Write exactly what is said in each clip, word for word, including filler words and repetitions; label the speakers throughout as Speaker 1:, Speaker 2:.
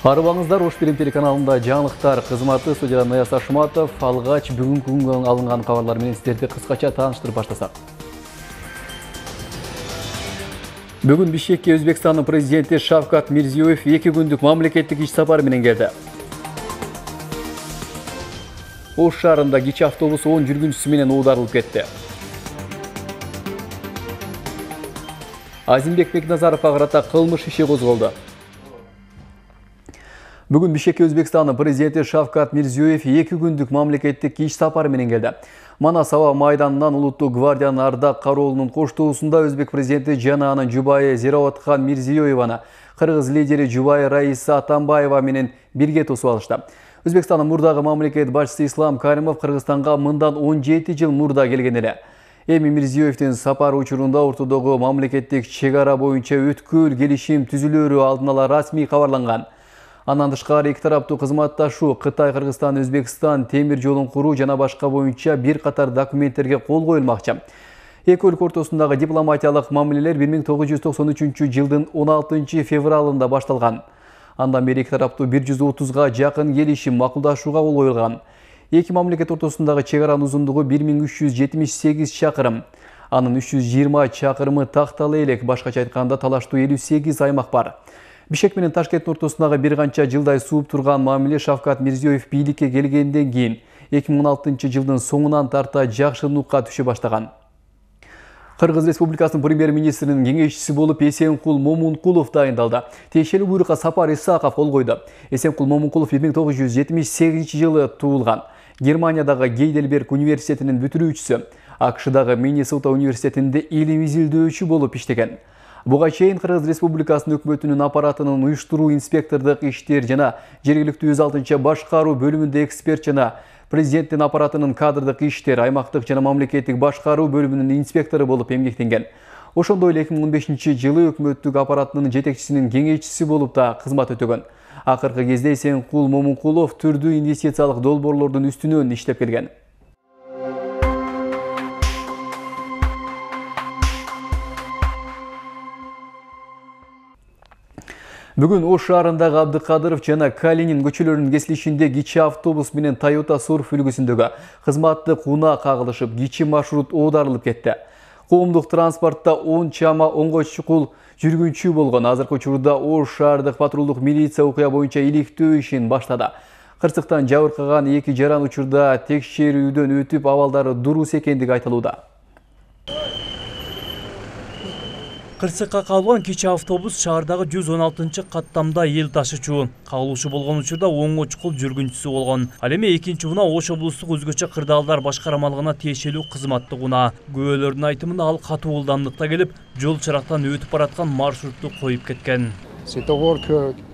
Speaker 1: Арыбаңыздар, Ош Билим телеканалында жаңылыктар кызматы, студияда Ныяз Ашматов. Алгач бүгүнкү күнгө алынган кабарлар менен сиздерди кыскача тааныштырып баштасак. Бүгүн Бишкекке Өзбекстандын президенти Шавкат Мирзиёев эки күндүк мамлекеттик иш сапары менен келди. Ош шаарында кичи автобус он жүргүнчүсү менен оодарылып кетти. Азимбек Бекназаровго карата кылмыш иши козголду. Бүгүн Бишкекке Өзбекстандын президенти Шавкат Мирзиёев эки күндүк мамлекеттик иш сапары менен келди. Манас аба майданынан Улуттук гвардиянын ардак кароолунун коштоосунда өзбек президенти жана анын жубайы Зираотхан Мирзиёеваны кыргыз лидери жубайы Раиса Атамбаева менен бирге тосуп алышты. Өзбекстандын мурдагы мамлекет башчысы Ислам Каримов Кыргызстанга мындан он жети жыл мурда келген эле. Эми Мирзиёевдин сапары учурунда ортодогу мамлекеттик чек ара боюнча өткөл келишим түзүлөрү алдын ала расмий кабарланган. Андан тышкары эки тараптуу кызматташуу, Кытай, Кыргызстан, Өзбекстан темир жолун куруу жана башка боюнча бир катар документтерге кол коюлмакчы. Эки өлкө ортосундагы дипломатиялык мамилелер бир миң тогуз жүз токсон үчүнчү жылдын он алтынчы февралында башталган. Андан бери эки тараптуу бир жүз отузга жакын келишим, макулдашууга кол коюлган. Эки мамлекет ортосундагы чек аранын узундугу бир миң үч жүз жетимиш сегиз чакырым. Анын үч жүз жыйырма чакырымы такталуу элек, башкача айтканда талаштуу элүү сегиз аймак бар. Бишкек менен Ташкенттин ортосундагы бир канча жылдай сууп турган мамиле Шавкат Мирзиёев бийликке келгенден кийин эки миң он алтынчы жылдын соңунан тарта жакшы нукка түшө баштаган. Кыргыз Республикасынын премьер-министринин кеңешчиси болуп Эсенкул Момункулов дайындалды. Тиешелүү буйрукка Сапар Исаков кол койду. Эсенкул Момункулов бир миң тогуз жүз жетимиш сегизинчи жылы туулган. Германиядагы Гейдельберг университетинин бүтүрүүчүсү, АКШдагы Миннесота университетинде илим изилдөөчү болуп иштеген. Буга чейин Кыргыз Республикасынын өкмөтүнүн аппаратынын уюштуруу, инспектордук иштер жана жергиликтүү өз алдынча башкаруу бөлүмүндө эксперт жана президенттин аппаратынын кадрдык иштер, аймактык жана мамлекеттик башкаруу бөлүмүнүн инспектору болуп эмгектенген. Ошондой эле эки миң он бешинчи жылы өкмөттүк аппаратынын жетекчисинин кеңешчиси болуп да кызмат өтөгөн. Акыркы кезде Эсенкул Момункулов түрдүү инвестициялык долбоорлордун үстүнөн иштеп келген. Бүгүн Ош шаарындагы Абдыкадыров жана Калинин көчөлөрүнүн кесилишинде кичи автобус менен Toyota Surf үлгүсүндөгү кызматтык унаа кагылышып, кичи маршрут оодарылып кетти. Коомдук транспортто он чама онго чукул жүргүнчү болгон. Азыркы учурда Ош шаардык патрулдук милиция окуя боюнча иликтөө ишин баштады. Кырсыктан жабыркаган эки жаран учурда текшерүүдөн өтүп, абалдары дурус экендиги айтылууда.
Speaker 2: Кырсыкка кабылган кичи автобус шаардагы жүз он алтынчы каттамда эл ташуучу. Кабылуучу болгон учурда оңго чукул жүргүнчүсү болгон. Ал эми экинчи унаа Ош облустук өзгөчө кырдаалдар башкармалыгына тиешелүү кызматтык унаа. Күбөлөрдүн айтымында ал катуу ылдамдыкта келип, жол чырактан өтүп бараткан маршрутту коюп кеткен.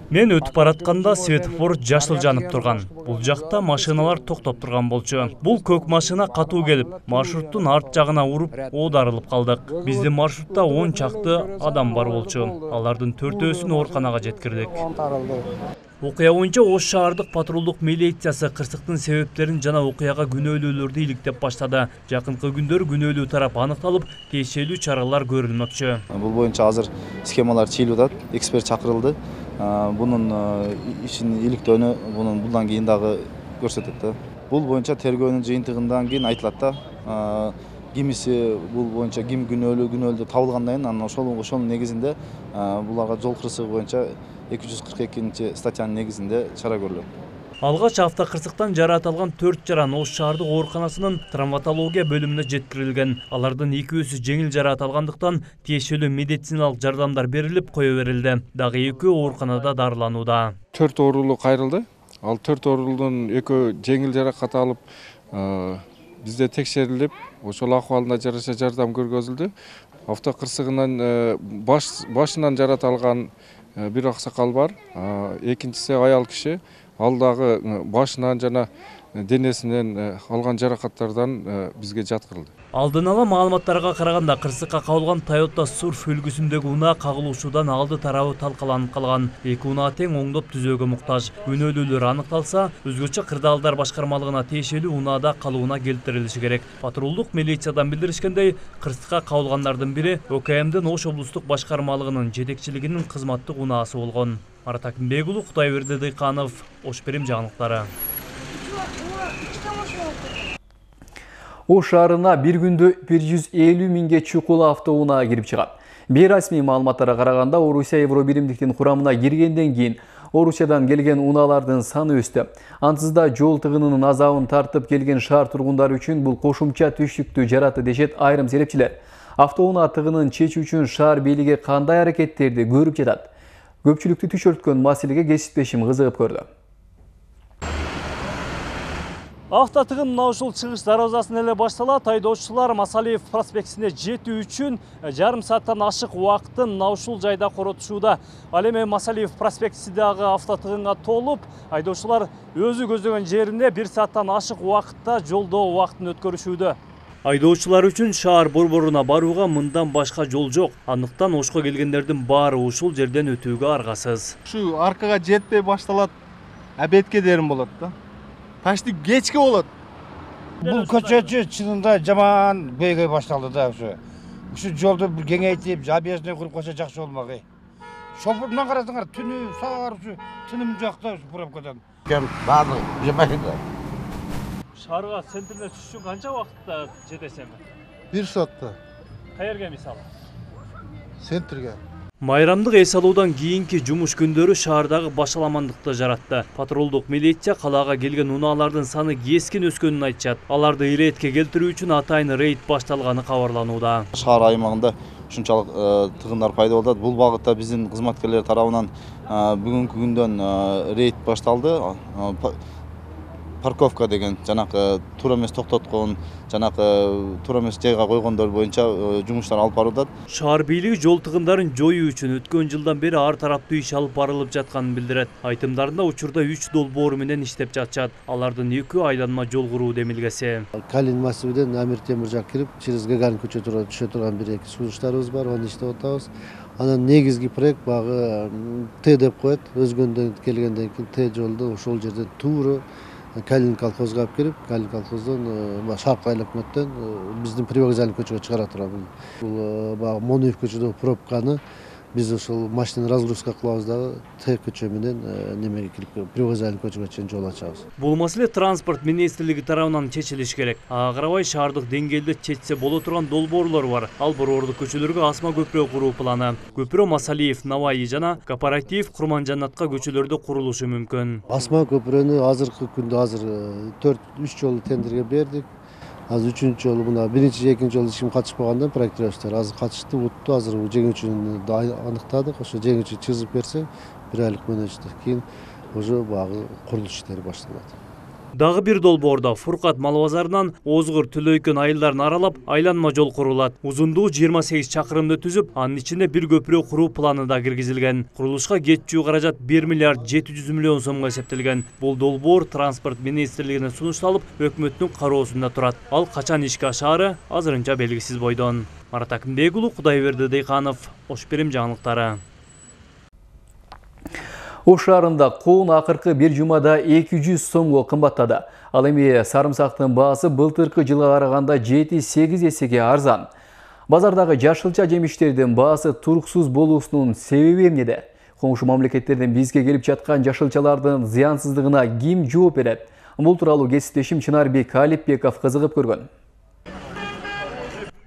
Speaker 2: Мен өтүп баратканда светофор жашыл жанып турган. Бул жакта машиналар токтоп турган болчу. Бул көк машина катуу келип, маршруттун арт жагына уруп, оодарылып калдык. Биздин маршрутта он чакты адам бар болчу. Алардын төртөөсүн ооруканага жеткирдик. Окуя боюнча Ош шаардык патрулдук милициясы кырсыктын себептерин жана окуяга күнөөлүүлөрдү иликтеп баштады. Жакынкы күндөрү күнөөлүү тарап аныкталып, тиешелүү чаралар көрүлмөкчү.
Speaker 3: Бул боюнча азыр схемалар чыйылып атат, эксперт чакырылды. Бунун ишин иликтөөнү бунун булдан кийин дагы көрсөтөт да. Бул боюнча тергөөнүн жыйынтыгынан кийин айтылат да. Кимиси бул боюнча ким күнөөлүү күнөөлүү табылгандан кийин анан ошол ошонун негизинде буларга жол кырсыгы боюнча эки жүз кырк экинчи статьянын негизинде чара көрүлөт.
Speaker 2: Алгач автокырсыктан жараат алган төрт жаран Ош шаардык ооруканасынын травматология бөлүмүнө жеткирилген. Алардын экөөсү жеңил жараат алгандыктан тиешелүү медициналык жардамдар берилип, кое берилди. Дагы экөө ооруканада дарыланууда.
Speaker 4: төрт оорулуу кайрылды. Ал төрт оорулуунун экөө жеңил жаракат алып, бизде текшерилип, ошол акыбалына жараша жардам көргөзүлдү. Автокырсыгынан башынан жараат алган бир аксакал бар. Экинчиси аял киши. Ал дагы башынан жана денесинен алган жаракаттардан бизге жаткырылды.
Speaker 2: Алдын ала маалыматтарга караганда кырсыкка кагылган Toyota Surf үлгүсүндөгү унаа кагылуушудан алды тарабы талкаланып калган. Эки унаа тең оңдоп түзөөгө муктаж. Күнөөлүүлөр аныкталса, өзгөчө кырдаалдар башкармалыгына тиешелүү унаада калууна келтирилиши керек. Патрулдук милициядан билдиришкендей, кырсыкка кагылгандардын бири ОКМдин Ош облустук башкармалыгынын жетекчилигинин кызматтык унаасы болгон. Марат Акимбекулу, Кудайберди Дыйканов, Ош Перим жаңылыктары.
Speaker 1: Ош шаарына бир күндө бир жүз элүү миңге чукул автоунаа кирип чыгат. Бейрасмий маалыматтарга караганда, Орусия Евробиримдиктин курамына киргенден кийин Орусиядан келген унаалардын саны өстү. Ансыз да жол тыгынынын азабын тартып келген шаар тургундары үчүн бул кошумча түштүктү жаратты дешет айрым серепчилер. Автоунаа тыгынын чечүү үчүн шаар бийлиги кандай аракеттерди көрүп жатат? Көпчүлүктү түшөрткөн маселеге кесиптешим кызыгып көрдү.
Speaker 2: Авто тыгын мына ушул чыгыш дарбазасынан эле башталат. Айдоочулар Масалиев проспектисине жетүү үчүн жарым сааттан ашык убакытын мына ушул жайда коротушууда. Ал эми Масалиев проспектисидагы авто тыгынга толуп, айдоочулар өзү көздөгөн жерине бир сааттан ашык убакытта жолдо убакытын өткөрүшүүдө. Айдоочулар үчүн шаар борборуна барууга мындан башка жол жок. Андыктан Ошко келгендердин баары ушул жерден өтүүгө аргасыз.
Speaker 5: Ушу аркага жетпей башталат, абетке дерим болот да. Почти кечке болот.
Speaker 6: Бул көчөчү чынында жаман көйгөй башталды да ушу. Ушу жолду кеңейтип, объездной куруп койсо жакшы болмак эй. Шофурдан карасаңар, түнү саар ушу тыным жакта ушу пробкадан. Кем баардыгы жамайт да.
Speaker 2: Шаарга центрине түшүш үчүн канча убакытта жетесем?
Speaker 5: бир саатта.
Speaker 2: Каерге мисалы?
Speaker 5: Центрге.
Speaker 2: Майрамдык эс алуудан кийинки жумуш күндөрү шаардагы башаламандыкты жаратты. Патрулдук милиция калаага келген унаалардын саны кескин өскөнүн айтышат. Аларды иретке келтирүү үчүн атайын рейд башталганы кабарланууда.
Speaker 3: Шаар аймагында ушунчалык тыгындар пайда болду. Бул багытта биздин кызматкерлер тарабынан бүгүнкү күндөн рейд башталды. Парковка деген жанакы туура эмес токтоткон, жанакы туура эмес жайга койгондор боюнча жумуштар алып барылат.
Speaker 2: Шаар бийлиги жол тыгындарын жоюу үчүн өткөн жылдан бери ар тараптуу иш алып барылып жатканын билдирет. Айтымдарында учурда үч долбоор менен иштеп жатышат. Алардын экөө айланма жол куруу демилгеси.
Speaker 7: Калин массивиден Амир Темир жак кирип, через Гагарин көчө тууру түшө турган бир эки сунуштарыбыз бар, аны иштеп атабыз. Анан негизги проект багы Т деп коет. Өзгөндөн келгенден кийин Т жолду ошол жерден тууру Калин колхозга алып келип, Калин колхоздон Шаркы айланмадан биздин привокзальный көчөгө чыгара турат. Бул баягы Моноев көчөдөгү пробканы биз ошол машина разгрузка кылабыз дагы Т көчө менен немеге кирип, привокзальный көчөгө чейин жол ачабыз.
Speaker 2: Бул маселе транспорт министрлиги тарабынан чечилиш керек. Ага карабай шаардык деңгээлде чечсе боло турган долбоорлор бар. Ал борбордук көчөлөргө асма көпүрө куруу планы. Көпүрө Масалиев, Наваи жана Кооператив, Курманжанатка көчөлөрдө курулушу мүмкүн.
Speaker 7: Асма көпүрөнү азыркы күндө азыр төрт үч жолу тендерге бердик. Азыр үчүнчү жолу мына биринчи, экинчи жолу эч ким катышпагандан проектировщиктер азыр катышты, утту. Азыр жеңүүчүн аныктадык. Ошо жеңүүчү чыгып берсе, бир айлык мөөнөттө кийин уже багы курулуш иштери башталат.
Speaker 2: Дагы бир долбоордо Фуркат мал базарынан Озгур Түлөйкөн айылдарын аралап айланма жол курулат. Узундугу жыйырма сегиз чакырымды түзүп, анын ичинде бир көпүрө куруу планы да киргизилген. Курулушка кетчү каражат бир миллиард жети жүз миллион сомго эсептелген. Бул долбоор транспорт министрлигине сунушталып, өкмөттүн кароосунда турат. Ал качан ишке ашаары азырынча белгисиз бойдон. Марат Акимбекулу, Кудайберди Дыйканов, Ош Перим жаңылыктары.
Speaker 1: Ош шаарында коон акыркы бир жумада эки жүз сомго кымбаттады. Ал эми сарымсактын баасы былтыркы жылга караганда жети сегиз эсеге арзан. Базардагы жашылча жемиштердин баасы туруксуз болуусунун себеби эмнеде? Коңшу мамлекеттерден бизге келип жаткан жашылчалардын зыянсыздыгына ким жооп берет? Бул тууралуу кесиптешим Чынарбек Алипбеков кызыгып көргөн.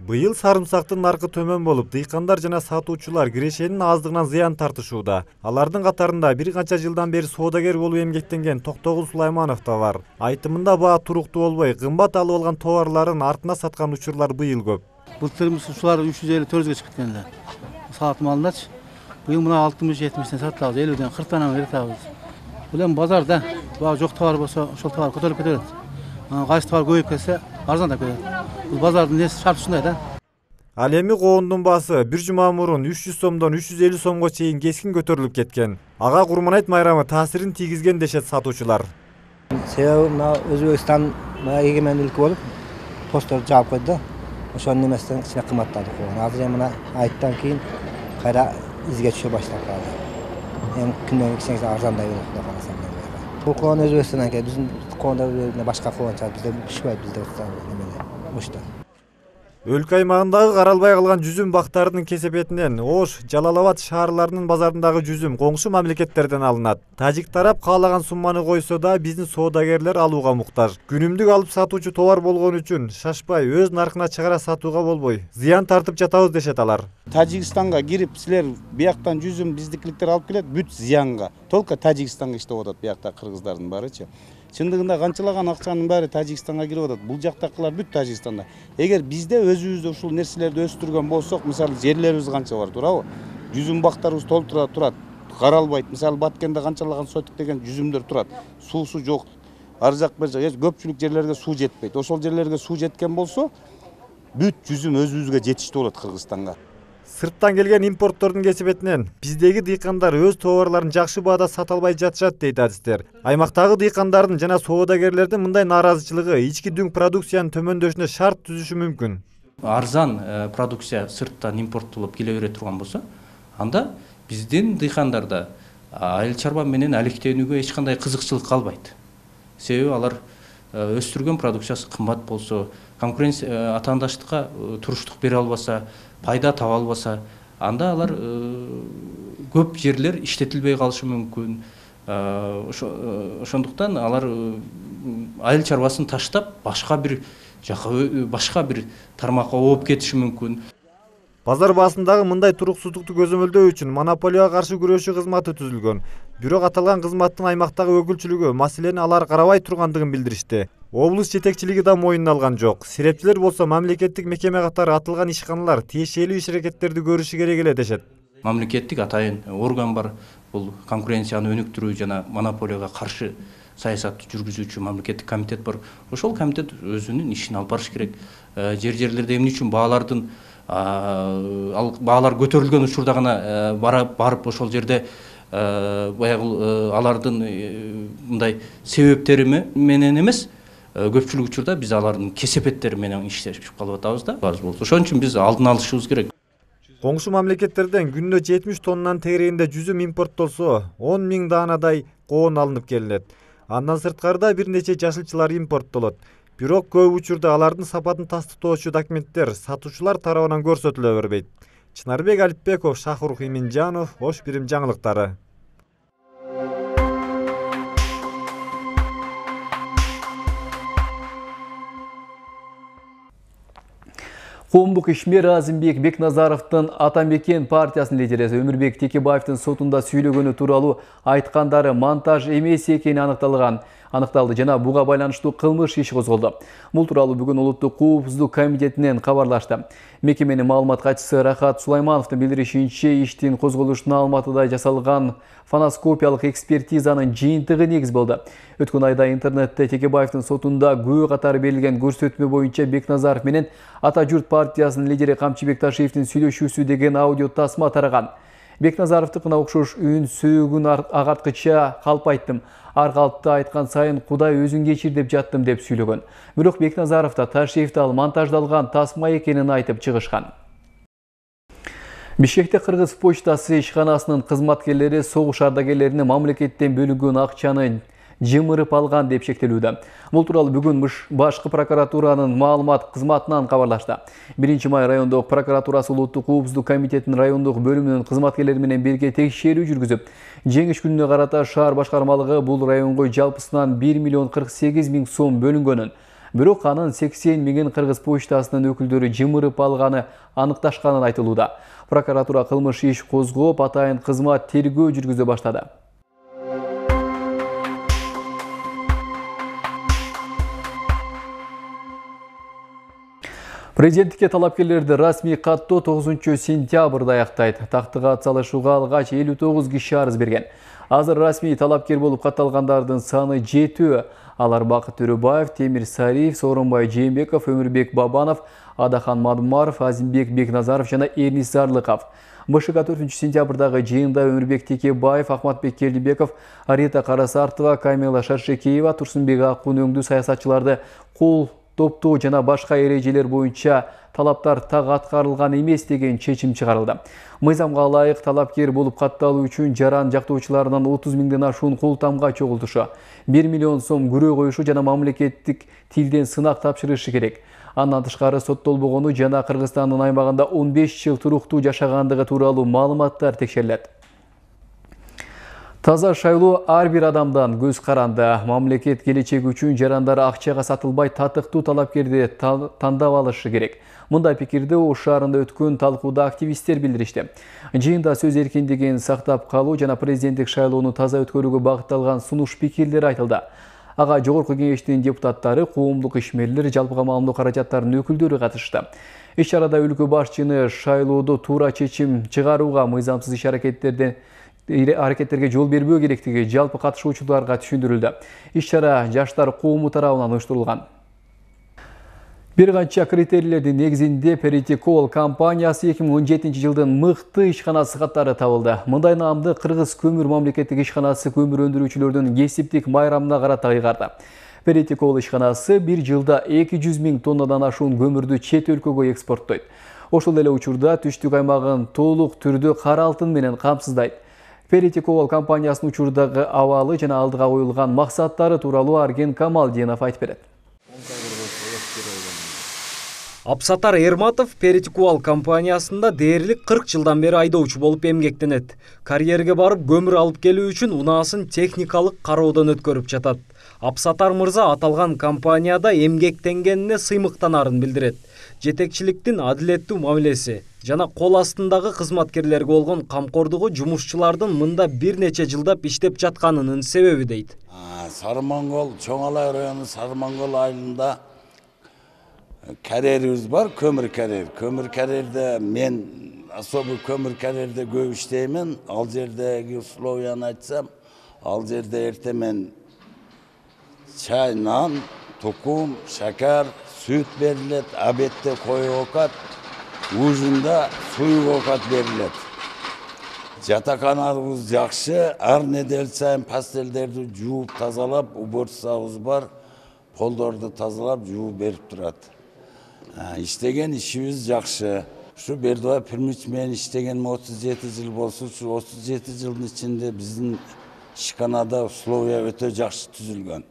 Speaker 8: Быйыл сарымсактын наркы төмөн болуп, дыйкандар жана сатуучулар кирешенин аздыгынан зыян тартышууда. Алардын катарында бир канча жылдан бери соодагер болуп эмгектенген Токтогул Сулайманов да бар. Айтымында баа туруктуу болбой, кымбат алып алган товарларын артына саткан учурлар быйыл көп.
Speaker 9: Былтырымыз ушулар үч жүз элүү төрт жүзгө чыгып кеткен эле. Саат малындачы. Быйыл мына алтымыш жетимиштен сатабыз, элүүдөн кырктан берип атабыз. Бул эми базарда баа жок товар болсо, ошол товар көтөрүлүп кетет. Кайсы товар көбөйүп кетсе, арзандап кетет. Бул базардын несі шарты ушундай да.
Speaker 8: Ал эми коондун баасы бир жума мурун үч жүз сомдон үч жүз элүү сомго чейин кескин көтөрүлүп кеткен. Ага Курманайт майрамы таасирин тийгизген дешет сатуучулар.
Speaker 6: Себеби мына Өзбекстан эгемендүүлүк болуп, посттор жаап койду да.
Speaker 10: ошонун эмесинен кичине кымбаттады кууган. Азыр эми мына айттан кийин кайра изге түшө баштап калды. Эми күндөн кичине арзандай болот деп карасам мен. Бул кууган Өзбекстандан келди. Биздин кууганда башка кууган чыгат. Бизде пишпейт, бизде эмеле ушта.
Speaker 8: Өлкө аймагындагы каралбай калган жүзүм бактарынын кесепетинен Ош, Жалал-Абад шаарларынын базарындагы жүзүм коңшу мамлекеттерден алынат. Тажик тарап каалаган сумманы койсо да биздин соодагерлер алууга муктаж. Күнүмдүк алып сатуучу товар болгон үчүн шашпай өз наркына чыгара сатууга болбой, зыян тартып жатабыз дешет алар.
Speaker 6: Тажикстанга кирип силер бияктан жүзүм биздикиликтер алып келет, бүт зыянга. Только Тажикстанга иштеп атат биякта кыргыздардын баарычы. Чындыгында канчалаган акчанын баары Тажикстанга кирип атат. Бул жактакылар бүт Тажикстанда. Эгер бизде өзүбүздө ушул нерселерди өстүргөн болсок, мисалы жерлерибиз канча бар, туурабы? Жүзүм бактарыбыз толтура турат, каралбайт. Мисалы Баткенде канчалаган сотик деген жүзүмдөр турат. Суусу жок. Ар жак бер жак көпчүлүк жерлерге суу жетпейт. Ошол жерлерге суу жеткен болсо, бүт жүзүм өзүбүзгө жетиштүү болот Кыргызстанга.
Speaker 8: Сырттан келген импорттордун кесепетинен биздеги дыйкандар өз товарларын жакшы баада сата албай жатышат дейт адистер. Аймактагы дыйкандардын жана соодагерлердин мындай нааразычылыгы ички дүң продукциянын төмөндөшүнө шарт түзүшү мүмкүн.
Speaker 11: Арзан продукция сырттан импорттолуп келе бере турган болсо, анда биздин дыйкандарда айыл чарба менен алектенүүгө эч кандай кызыкчылык калбайт. Себеби алар өстүргөн продукциясы кымбат болсо, конкуренция атаандаштыкка туруштук бере албаса, пайда таба албаса, анда алар көп жерлер иштетилбей калышы мүмкүн. Ошондуктан алар айыл чарбасын таштап башка бир жака башка бир тармакка ооп кетиши мүмкүн.
Speaker 8: Базар баасындагы мындай туруксуздукту көзөмөлдөө үчүн монополияга каршы күрөшүү кызматы түзүлгөн. Бирок аталган кызматтын аймактагы өкүлчүлүгү маселени алар карабай тургандыгын билдиришти. Облус жетекчилиги да моюнуна алган жок. Сирепчилер болсо мамлекеттик мекеме катары атылган ишканалар тиешелүү иш-аракеттерди көрүшү керек эле дешет.
Speaker 11: Мамлекеттик атайын орган бар. Бул конкуренцияны өнүктүрүү жана монополияга каршы саясат жүргүзүүчү мамлекеттик комитет бар. Ошол комитет өзүнүн ишин алып барыш керек. Жер жерлерде эмне үчүн баалардын ал баалар көтөрүлгөн учурда гана барып ошол жерде баягы алардын мындай себептери менен эмес, көпчүлүк учурда биз алардын кесепеттери менен иштешип калып атабыз да. Ошон үчүн биз алдын алышыбыз керек.
Speaker 8: Коңшу мамлекеттерден күнүнө жетимиш тоннанын тегерегинде жүзүм импорттолсо, он миң даанадай коон алынып келинет. Андан сырткарыда бир нече жашылчалар импорттолот. Бирок көп учурда алардын сапатын тастыктоочу документтер сатуучулар тарабынан көрсөтүлө бербейт. Чынарбек Алипбеков, Шахрух Иминжанов, Ош Бирим жаңылыктары.
Speaker 1: Коомдук ишмер Азимбек Бекназаровдун Атамекен партиясынын лидери Өмүрбек Текебаевдин сотунда сүйлөгөнү тууралуу айткандары монтаж эмес экени аныкталган. Аныкталды жана буга байланыштуу кылмыш иши козголду. Бул тууралуу бүгүн Улуттук коопсуздук комитетинен кабарлашты. Мекеменин маалымат катчысы Рахат Сулаймановдун билдиришинче, иштин козголушуна Алматыда жасалган фоноскопиялык экспертизанын жыйынтыгы негиз болду. Өткөн айда интернетте Текебаевдин сотунда күбө катары берилген көрсөтмө боюнча Бекназаров менен Ата журт партиясынын лидери Камчыбек Ташиевдин сүйлөшүүсү деген аудио тасма тараган. Бекназаровдукуна окшош үн сөөгүн агарткыча калп айттым. Ар калпты айткан сайын Кудай өзүн кечир деп жаттым деп сүйлөгөн. Бирок Бекназаров да Ташиевди ал монтаждалган тасма экенин айтып чыгышкан. Бишкекте Кыргыз почтасы ишканасынын кызматкерлери согуш ардагерлеринин мамлекеттен бөлүнгөн акчаны жымырып алган деп шектелүүдө. Бул тууралуу бүгүн башкы прокуратуранын маалымат кызматынан кабарлашты. биринчи май райондук прокуратурасы Улуттук коопсуздук комитетинин райондук бөлүмүнүн кызматкерлери менен бирге текшерүү жүргүзүп, жеңиш күнүнө карата шаар башкармалыгы бул районго жалпысынан бир миллион кырк сегиз миң сом бөлүнгөнүн, бирок анын сексен миңин Кыргыз почтасынын өкүлдөрү жымырып алганы аныкташканын айтылууда. Прокуратура кылмыш иш козгоп, атайын кызмат тергөө жүргүзө баштады. Президенттикке талапкерлерди расмий каттоо тогузунчу сентябрда аяктайт. Тактыга атсалышууга алгач элүү тогуз киши арыз берген. Азыр расмий талапкер болуп катталгандардын саны жетүү. Алар Бакыт Төрөбаев, Темир Сариев, Сооронбай Жээнбеков, Өмүрбек Бабанов, Адахан Мадумаров, Азимбек Бекназаров жана Эрнис Зарлыков. БШК төртүнчү сентябрдагы жыйында Өмүрбек Текебаев, Ахматбек Келдибеков, Арита Карасартова, Камила Шаршекеева, Турсунбек Акун өңдүү саясатчыларды кол топтоо жана башка эрежелер боюнча талаптар так аткарылган эмес деген чечим чыгарылды. Мыйзамга ылайык талапкер болуп катталуу үчүн жаран жактоочуларынан отуз миңден ашуун кол тамга чогултушу, бир миллион сом күрөө коюшу жана мамлекеттик тилден сынак тапшырышы керек. Андан тышкары соттолбогону жана Кыргызстандын аймагында он беш жыл туруктуу жашагандыгы тууралуу маалыматтар текшерилет. Таза шайлоо ар бир адамдан көз каранды. Мамлекет келечеги үчүн жарандар акчага сатылбай татыктуу талапкерди тандап алышы керек. Мындай пикирди Ош шаарында өткөн талкууда активисттер билдиришти. Жыйында сөз эркиндигин сактап калуу жана президенттик шайлоону таза өткөрүүгө багытталган сунуш пикирлер айтылды. Ага жогорку кеңештин депутаттары, коомдук ишмерлер, жалпы камалымдуу каражаттардын өкүлдөрү катышты. Иш чарада өлкө башчыны шайлоодо туура чечим чыгарууга, мыйзамсыз иш аракеттерден аракеттерге жол бербөө керектиги жалпы катышуучуларга түшүндүрүлдү. Иш чара жаштар коому тарабынан уюштурулган. Бир канча критерийлердин негизинде Перетикол компаниясы эки миң он жетинчи жылдын мыкты ишканасы катары табылды. Мындай наамды Кыргыз көмүр мамлекеттик ишканасы көмүр өндүрүүчүлөрдүн кесиптик майрамына карата ыйгарды. Перетикол ишканасы бир жылда эки жүз миң тоннадан ашуун көмүрдү чет өлкөгө экспорттойт. Ошол эле учурда түштүк аймагын толук түрдө кара алтын менен камсыздайт. Перетикол компаниясынын учурдагы абалы жана алдыга коюлган максаттары тууралуу Арген Камалдинов айтып берет.
Speaker 12: Абсатар Эрматов Перетикол компаниясында дээрлик кырк жылдан бери айдоочу болуп эмгектенет. Карьерге барып көмүр алып келүү үчүн унаасын техникалык кароодон өткөрүп жатат. Абсатар мырза аталган компанияда эмгектенгенине сыймыктанарын билдирет. Жетекчиликтин адилеттүү мамилеси жана кол астындагы кызматкерлерге болгон камкордугу жумушчулардын мында бир нече жылдап иштеп жатканынын себеби дейт.
Speaker 13: Сарымоңгол, Чоң Алай району Сарымоңгол айылында карьерибиз бар, көмүр карьер. Көмүр карьерде мен особый көмүр карьерде көп иштеймин. Ал жердеги условияны айтсам, ал жерде эрте мен чай, нан, тукум, шакар, сүт берилет, обедте кою окат, ужунда суюк окат берилет. Жатаканабыз жакшы, ар недел сайын пастелдерди жууп тазалап, уборствобуз бар, полдорду тазалап жууп берип турат. Иштеген ишибиз жакшы. Ушу Бердубай Пирмич менен иштегениме отуз жети жыл болсо, ушу отуз жети жылдын ичинде биздин ишканада условия өтө жакшы түзүлгөн.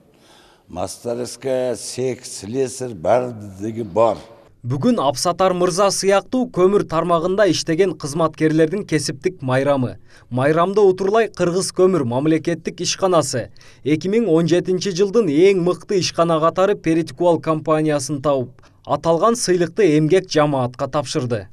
Speaker 13: Мастерская, сек, слесарь бардыгы бар.
Speaker 12: Бүгүн Абсатар мырза сыяктуу көмүр тармагында иштеген кызматкерлердин кесиптик майрамы. Майрамда утурлай Кыргыз көмүр мамлекеттик ишканасы эки миң он жетинчи жылдын эң мыкты ишкана катары Перетикол компаниясын тауып, аталган сыйлыкты эмгек жамаатка тапшырды.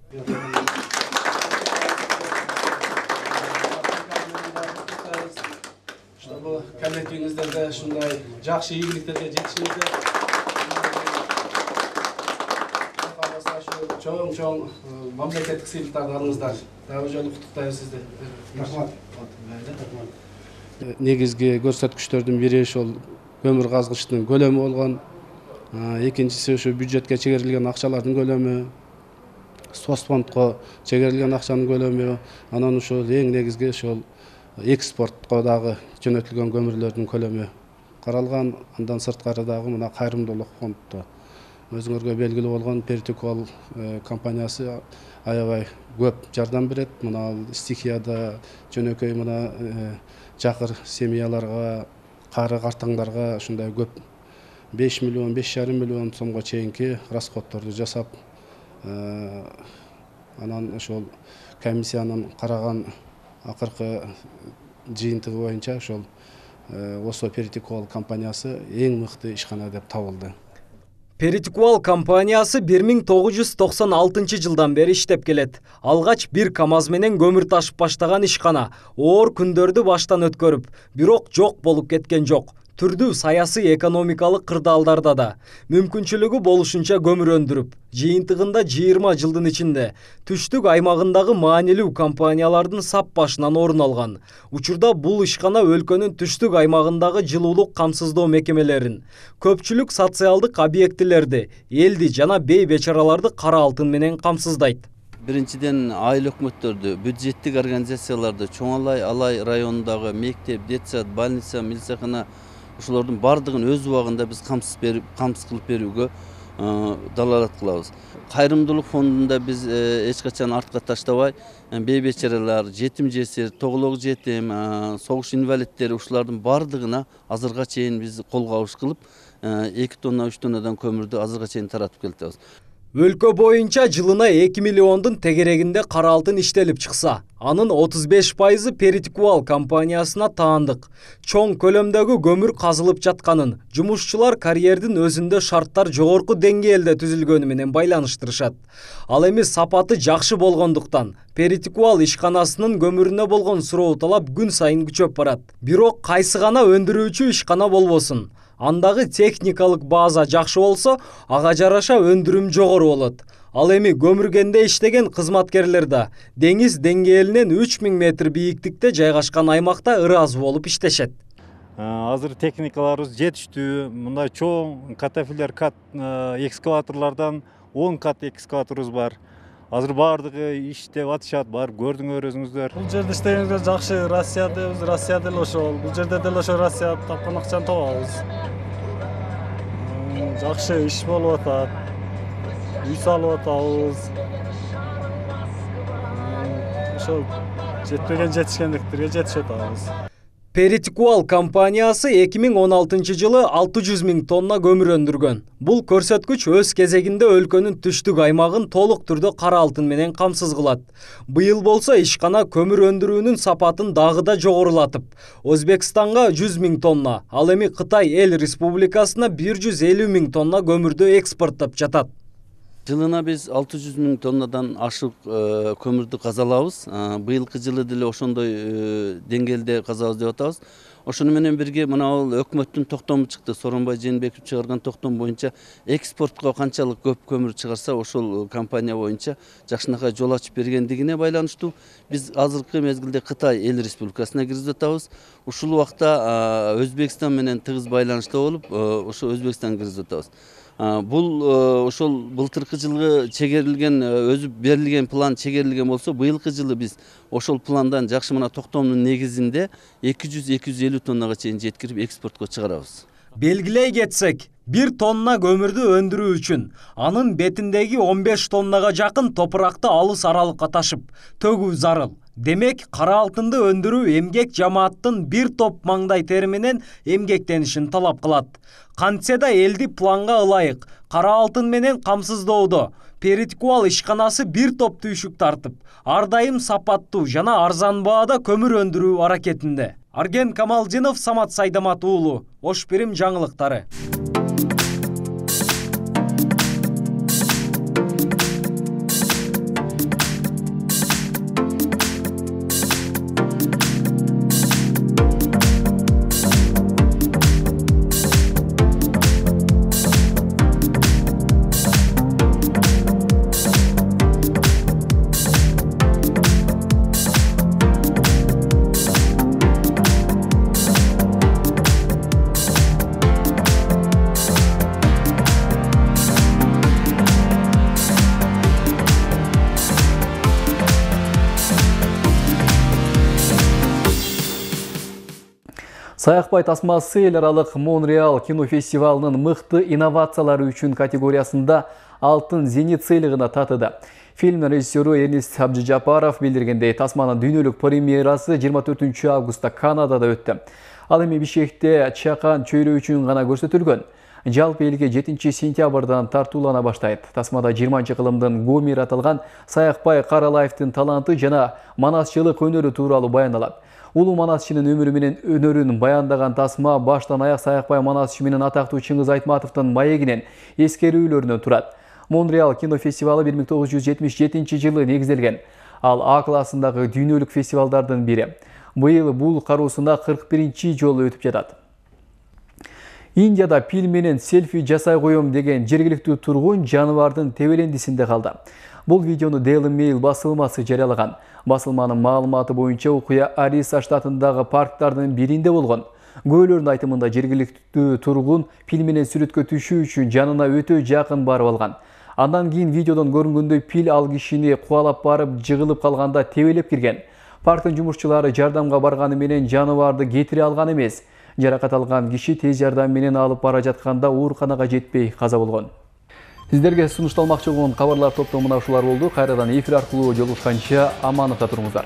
Speaker 14: Коллективиңиздерде ушундай жакшы ийгиликтерге жетишиңизде чоң-чоң мамлекеттик сыйлыктарды алыңыздар. Дагы жолу куттуктайбыз сизди. Рахмат. Негизги көрсөткүчтөрдүн бири ошол көмүр казгычтын көлөмү болгон. Экинчиси ошо бюджетке чегерилген акчалардын көлөмү, соцфондко чегерилген акчанын көлөмү, анан ошол эң негизги ошол экспортко дагы жөнөтүлгөн көмүрлөрдүн көлөмү каралган. Андан сырткары дагы мына кайрымдуулук фонддо өзүңөргө белгилүү болгон Перетикол компаниясы аябай көп жардам берет. Мына стихияда жөнөкөй мына жакыр семьяларга, кары картаңдарга ушундай көп беш миллион, беш жарым миллион сомго чейинки расходторду жасап, анан ошол комиссиянын караган акыркы жыйынтыгы боюнча ошол Осо Перетикол компаниясы эң мыкты ишкана деп табылды.
Speaker 12: Перетикол компаниясы бир миң тогуз жүз токсон алтынчы жылдан бери иштеп келет. Алгач бир КАМАЗ менен көмүр ташып баштаган ишкана оор күндөрдү баштан өткөрүп, бирок жок болуп кеткен жок. Түрдүү саясий экономикалык кырдаалдарда да мүмкүнчүлүгү болушунча көмүр өндүрүп, жыйынтыгында жыйырма жылдын ичинде түштүк аймагындагы маанилүү компаниялардын сап башынан орун алган. Учурда бул ишкана өлкөнүн түштүк аймагындагы жылуулук камсыздоо мекемелерин, көпчүлүк социалдык объектилерди, элди жана бей бечараларды кара алтын менен камсыздайт.
Speaker 15: Биринчиден айыл өкмөттөрдү, бюджеттик организацияларды, Чоң Алай, Алай районундагы мектеп, детсад, больница, милицияхана ушулардын бардыгын өз убагында биз камсыз берип, камсыз кылып берүүгө далалат кылабыз. Кайрымдуулук фондунда биз эч качан артка таштабай, бейбечерелер, жетим жесир, тоголок жетим, согуш инвалидтери ушулардын бардыгына азырга чейин биз колго алыш кылып, эки тонна, үч тоннадан көмүрдү азырга чейин таратып келатабыз.
Speaker 12: Өлкө боюнча жылына эки миллиондун тегерегинде кара алтын иштелип чыкса, анын отуз беш пайызы Перитикуал компаниясына таандык. Чоң көлөмдөгү көмүр казылып жатканын жумушчулар карьердин өзүндө шарттар жогорку деңгээлде түзүлгөнү менен байланыштырышат. Ал эми сапаты жакшы болгондуктан Перитикуал ишканасынын көмүрүнө болгон суроо талап күн сайын күчөп барат. Бирок кайсы гана өндүрүүчү ишкана болбосун, андагы техникалык база жакшы болсо, ага жараша өндүрүм жогору болот. Ал эми көмүргенде иштеген кызматкерлер да деңиз деңгээлинен үч миң метр бийиктикте жайгашкан аймакта ыраазы болуп иштешет.
Speaker 8: Азыр техникаларыбыз жетиштүү. Мындай чоң катафилер, кат экскаваторлордон он кат экскаваторубуз бар. Азыр бардыгы иштеп атышат, барып көрдүңөр өзүңүздөр.
Speaker 16: Бул жерде иштегенге жакшы, Россиядабыз, Россияда эле ошол. Бул жерде деле ошо Россия тапкан акчаны табабыз. Жакшы иш болуп атат. Үй салып атабыз. Ошол жетпеген жетишкендиктерге жетишип атабыз.
Speaker 12: Перитикуал компаниясы эки миң он алтынчы жылы алты жүз миң тонна көмүр өндүргөн. Бул көрсөткүч өз кезегинде өлкөнүн түштүк аймагын толук түрдө кара алтын менен камсыз кылат. Быйыл болсо ишкана көмүр өндүрүүнүн сапатын дагы да жогорулатып, Өзбекстанга жүз миң тонна, ал эми Кытай эл республикасына бир жүз элүү миң тонна көмүрдү экспорттоп жатат.
Speaker 15: Жылына биз алты жүз миң тоннадан ашык көмүрдү казалабыз. Быйылкы жылы деле ошондой деңгээлде казабыз деп атабыз. Ошону менен бирге мына бул өкмөттүн токтому чыкты. Сооронбай Жээнбеков чыгарган токтом боюнча экспортко канчалык көп көмүр чыгарса, ошол компания боюнча жакшынакай жол ачып бергендигине байланыштуу биз азыркы мезгилде Кытай эл республикасына киргизип атабыз. Ушул убакта Өзбекстан менен тыгыз байланышта болуп, ошо Өзбекстанга киргизип атабыз. Бул ошол былтыркы жылгы чегерилген, өзү берилген план чегерилген болсо, быйылкы жылы биз ошол пландан жакшы мына токтомдун негизинде эки жүз эки жүз элүү тоннага чейин жеткирип экспортко чыгарабыз.
Speaker 12: Белгилей кетсек, бир тонна көмүрдү өндүрүү үчүн анын бетиндеги он беш тоннага жакын топуракты алыс аралыкка ташып, төгүү зарыл. Демек, кара алтынды өндүрүү эмгек жамааттын бир топ маңдай тери менен эмгектенишин талап кылат. Кантсе да элди планга ылайык кара алтын менен камсыздоодо Перитикуал ишканасы бир топ түйшүк тартып, ар дайым сапаттуу жана арзан баада көмүр өндүрүү аракетинде. Арген Камалдинов, Самат Сайдамат уулу, Ош Бирим жаңылыктары.
Speaker 1: Саякбай тасмасы эл аралык Монреал кинофестивалынын мыкты инновациялары үчүн категориясында алтын зенит сыйлыгына татыды. Фильм режиссеру Эрнест Абжыжапаров билдиргендей, тасманын дүйнөлүк премьерасы жыйырма төртүнчү августта Канадада өттү. Ал эми Бишкекте чакан чөйрө үчүн гана көрсөтүлгөн. Жалпы элге жетинчи сентябрдан тартуулана баштайт. Тасмада жыйырманчы кылымдын Гомер аталган Саякбай Каралаевдин таланты жана манасчылык өнөрү тууралуу баяндалат. Улуу манасчынын өмүрү менен өнөрүн баяндаган тасма баштан аяк Саякбай манасчы менен атактуу Чыңгыз Айтматовдун маегинен эскерүүлөрүнөн турат. Монреал кинофестивалы бир миң тогуз жүз жетимиш жетинчи жылы негизделген. Ал А классындагы дүйнөлүк фестивалдардын бири. Быйыл бул кароосуна кырк биринчи жолу өтүп жатат. Индияда пил менен селфи жасай коем деген жергиликтүү тургун жаныбардын тебелендисинде калды. Бул видеону Daily Mail басылмасы жарыялаган. Басылманын маалыматы боюнча окуя Ариса штатындагы парктардын биринде болгон. Көөлөрдүн айтымында жергиликтүү тургун пил менен сүрөткө түшүү үчүн жанына өтө жакын барып алган. Андан кийин видеодон көрүнгөндөй пил ал кишини кубалап барып жыгылып калганда тебелеп кирген. Парктын жумушчулары жардамга барганы менен жаныбарды кетире алган эмес. Жаракат алган киши тез жардам менен алып бара жатканда ооруканага жетпей каза болгон. Сиздерге сунушталмакчы болгон кабарлар топтомуна ушулар болду. Кайрадан эфир аркылуу жолугушканча аманыкта туруңуздар.